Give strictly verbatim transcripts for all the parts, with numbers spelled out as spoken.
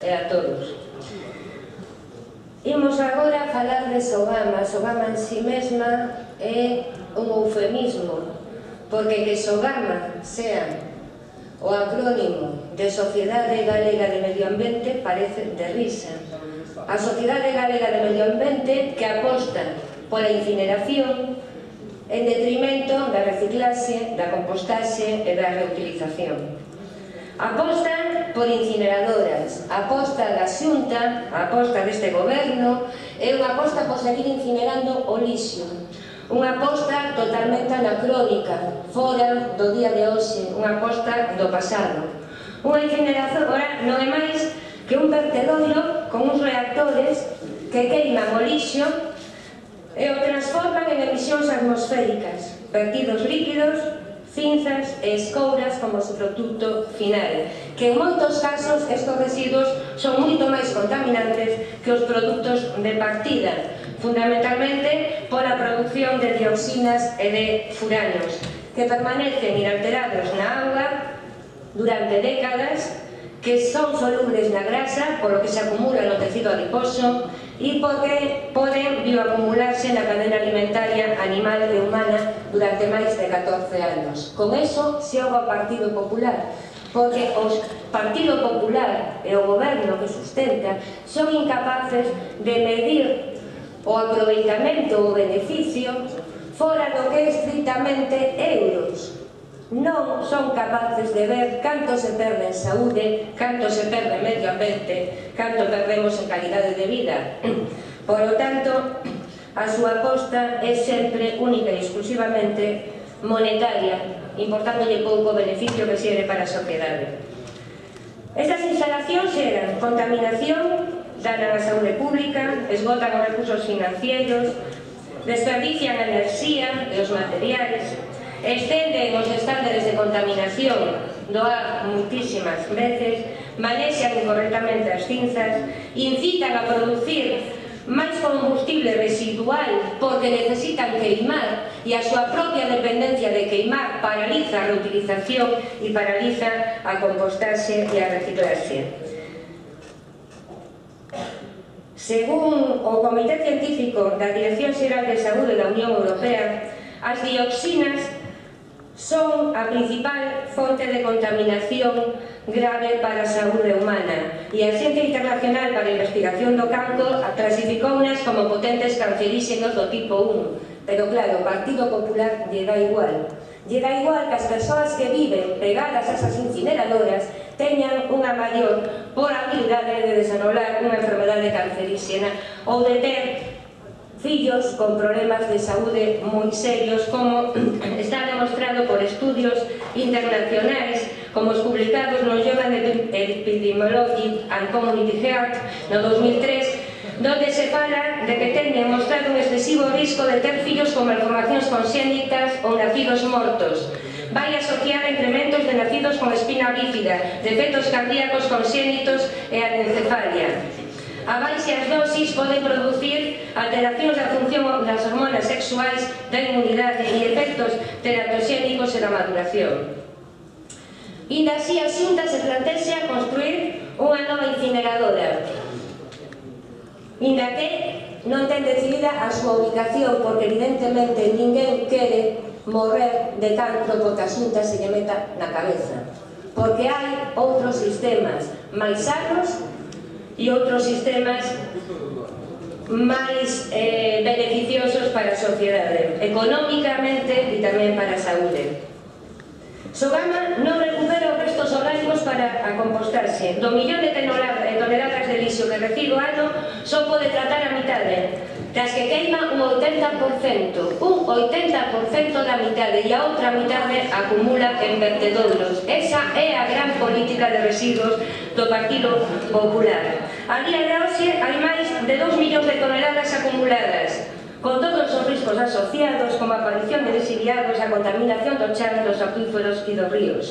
e a todos. Imos agora a falar de Sogama. Sogama en si mesma é un eufemismo, porque que Sogama sea o acrónimo de Sociedade Galega de Medio Ambiente parece de risa. A Sociedade Galega de Medio Ambiente que aposta pola incineración en detrimento da reciclaxe, da compostaxe e da reutilización. Aposta por incineradoras, a aposta da Xunta, a aposta deste goberno é unha aposta por seguir incinerando o lixo, unha aposta totalmente anacrónica, fora do día de hoxe, unha aposta do pasado. Unha incineradora non é máis que un vertedoiro con uns reactores que queiman o lixo e o transforman en emisións atmosféricas, vertidos líquidos, cinzas e escouras como su produto final, que en moitos casos estes residuos son moito máis contaminantes que os produtos de partida, fundamentalmente pola produción de dioxinas e de furanos, que permanecen inalterados na auga durante décadas, que son solubles na grasa, polo que se acumula no tecido adiposo e porque poden bioacumularse na cadena alimentaria animal e humana durante máis de catorce anos. Con eso xoga o Partido Popular, porque o Partido Popular e o goberno que sustenta son incapaces de medir o aproveitamento ou beneficio fora do que é estritamente euros. Non son capaces de ver canto se perde en saúde, canto se perde en medio ambiente, canto perdemos en calidade de vida. Por lo tanto, a súa aposta é sempre única e exclusivamente monetaria, importándolle pouco beneficio que xere para a sociedade. Estas instalacións xeran contaminación, danan a saúde pública, esgotan os recursos financieros, desperdician a enerxía e os materiais, estenden os estándares de contaminación do ar muitísimas veces, manexan incorrectamente as cinzas, incitan a producir máis combustible residual porque necesitan queimar e a súa propia dependencia de queimar paraliza a reutilización e paraliza a compostaxe e a reciclaxe. Según o Comité Científico da Dirección Xeral de Saúde da Unión Europea, as dioxinas son a principal fonte de contaminación grave para a saúde humana e a Axencia Internacional para a Investigación do Cancro clasificounas como potentes canceríxenos do tipo un, pero claro, o Partido Popular lle dá igual. Lle dá igual que as persoas que viven pegadas a esas incineradoras teñan unha maior probabilidade de desenrolar unha enfermedade canceríxena ou de ter fillos con problemas de saúde moi serios, como está demostrado por estudios internacionais, como os publicados no Journal of Epidemiology and Community Health no dos mil tres, donde se fala de que teñen mostrado un excesivo risco de ter fillos con malformacións conxénitas ou nacidos mortos. Vai asociar a incrementos de nacidos con espina bífida, defectos cardíacos conxénitos e anencefalia. A baixas dosis poden producir alteracións da función das hormonas sexuais, da inmunidade e efectos teratoxénicos e da maduración. Inda así, a Xunta se plantexa construir unha nova incineradora, inda que non ten decidida a súa ubicación, porque evidentemente ninguén quere morrer de cancro porque a Xunta se lle meta na cabeza, porque hai outros sistemas máis sanos e outros sistemas máis eh, beneficiosos para a sociedade, económicamente e tamén para a saúde. Sogama non recupera os restos orgánicos para a compostaxe. Do millón de toneladas de lixo que recibe o ano, só pode tratar a mitade, tras que queima un oitenta por cento. Un oitenta por cento da mitade e a outra mitade acumula en vertedoiros. Esa é a gran política de residuos do Partido Popular. A día de hoxe hai máis de dous millóns de toneladas acumuladas, con todos os riscos asociados, como a aparición de lixiviados, a contaminación do chan, dos acuíferos e dos ríos.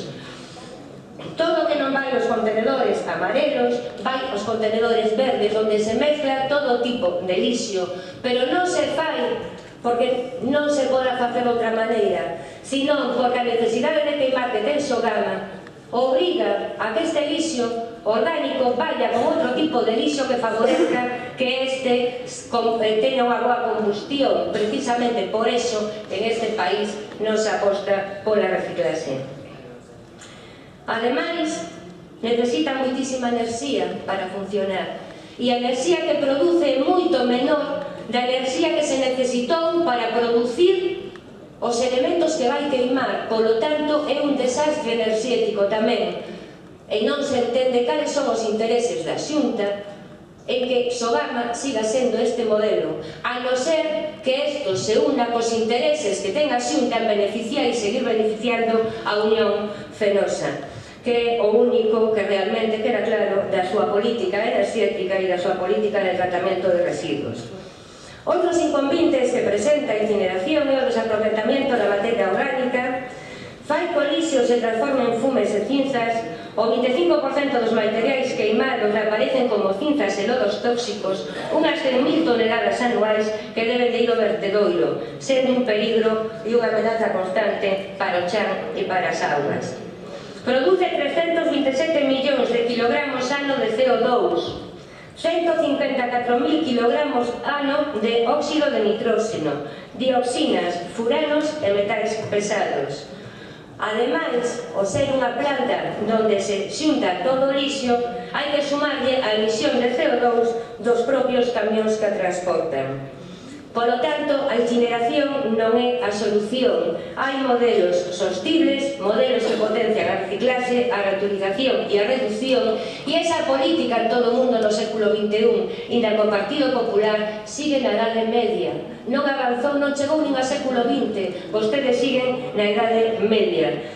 Todo o que non vai aos contenedores amarelos, vai aos contenedores verdes, onde se mezcla todo tipo de lixo, pero non se fai porque non se poda facer de outra maneira, senón porque a necesidade de queimar que ten Sogama obriga a que este lixo orgánico vaya con outro tipo de lixo que favorezca que este teña unha boa combustión. Precisamente por eso en este país non se aposta pola reciclaxe. Ademais, necesita moitísima enerxía para funcionar, e a enerxía que produce é moito menor da enerxía que se necesitou para producir os elementos que vai queimar. Polo tanto, é un desastre enerxético tamén, e non se entende cales son os intereses da Xunta en que Sogama siga sendo este modelo, a non ser que isto se una cos intereses que ten a Xunta en beneficiar e seguir beneficiando a Unión Fenosa, que é o único que realmente queda claro da súa política enerxética e da súa política de tratamento de residuos. Outros inconvenientes que presenta a incineración é o desaproveitamento da materia orgánica, fai que o lixo se transforma en fumes e cinzas. O vinte e cinco por cento dos materiais queimados aparecen como cinzas e lodos tóxicos, unhas cen mil toneladas anuais que deben de ir ao vertedoiro, sendo un peligro e unha amenaza constante para o chan e para as augas. Produce trescentos vinte e sete millóns de kilogramos ano de C O dous, ciento cincuenta e catro mil kilogramos ano de óxido de nitróxeno, dioxinas, furanos e metais pesados. Ademais, o ser unha planta onde se xunta todo o lixo, hai que sumarlle a emisión de C O dous dos propios camións que a transportan. Polo tanto, a incineración non é a solución. Hai modelos sostibles, modelos que potencian a reciclaxe, a reutilización e a reducción, e esa política en todo o mundo no século vinte e un, inda co Partido Popular, sigue na Idade Media. Non avanzou, non chegou nin a século vinte, vostedes siguen na Idade Media.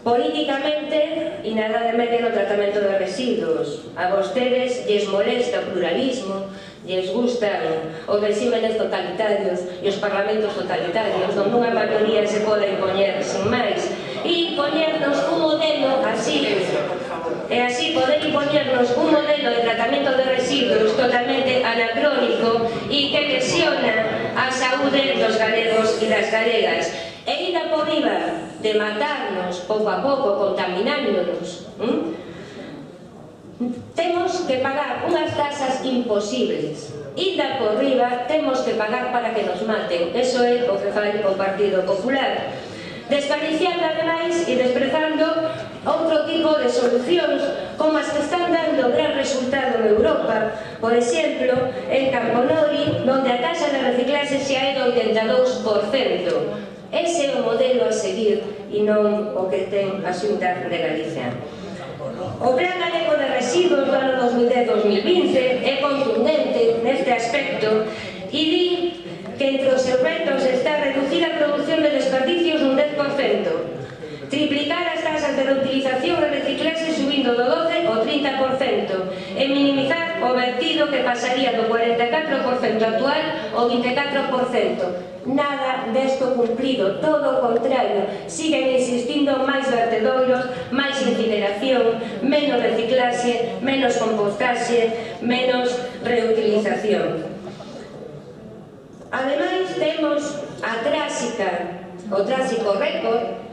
Políticamente, e na Idade Media no tratamento de residuos, a vostedes lles molesta o pluralismo, lles gustan os regímenes totalitarios e os parlamentos totalitarios, onde unha maioría se pode impoñer sin máis, e impoñernos un modelo así, e así poder impoñernos un modelo de tratamento de residuos totalmente anacrónico e que lesiona a saúde dos galegos e das galegas. E ida por riba de matarnos pouco a pouco, contaminándonos, ¿m? Temos que pagar unhas tasas imposibles. Ida por riba temos que pagar para que nos maten. Eso é o que fai o Partido Popular. Desperdiciando ademais e desprezando outro tipo de solucións como as que están dando gran resultado en Europa, por exemplo, en Camponori, onde a taxa de reciclaxe xa é do oitenta e dous por cento. Ese é o modelo a seguir e non o que ten a Xunta de Galicia. O Plan Galego de Residuos do ano dos mil dez dos mil vinte é contundente neste aspecto e di que entre os seus retos está reducir a produción de desperdicios un dez por cento, triplicar as tasas de reutilización e reciclaxe subindo do doce ao trinta por cento e minimizar o vertido que pasaría do cuarenta e catro por cento actual ao vinte e catro por cento. Nada desto cumplido, todo o contrario, siguen existindo máis vertedoiros, máis incineración, menos reciclaxe, menos compostaxe, menos reutilización. Ademais, temos a tráxica, o tráxico récord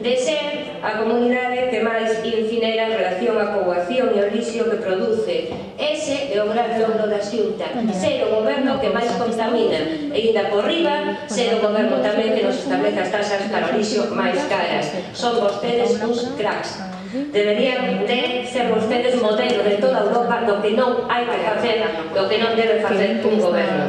de ser a comunidade que máis incinera en relación á poboación e ao lixo que produce. Ese é o gran logro da Xunta, ser o goberno que máis contamina e ainda por riba ser o goberno tamén que nos establece as tasas para o lixo máis caras. Son vostedes uns cracks. Deberían de ser vostedes modelo de toda Europa do que non hai que facer, do que non debe facer un goberno.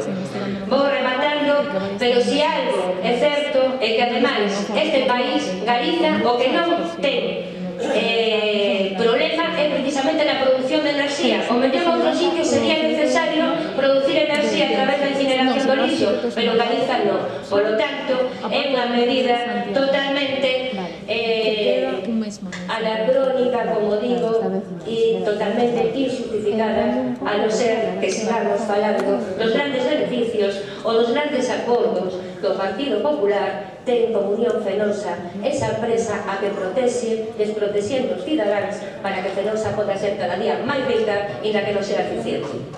Vou rematando, pero se algo é certo é que ademais este país, Galiza, o que non ten eh, problema é precisamente na produción de enerxía. O mellor outro sitio sería necesario producir enerxía a través da incineración do lixo, pero Galiza non. Por lo tanto, é unha medida totalmente eh, anacrónica, como digo, e totalmente injustificada, a non ser que sigamos falando dos grandes beneficios ou dos grandes acordos que o Partido Popular ten como Unión Fenosa, esa empresa a que protexe, desprotexendo os cidadáns para que Fenosa poda ser cada día máis rica e na que non sea eficiente.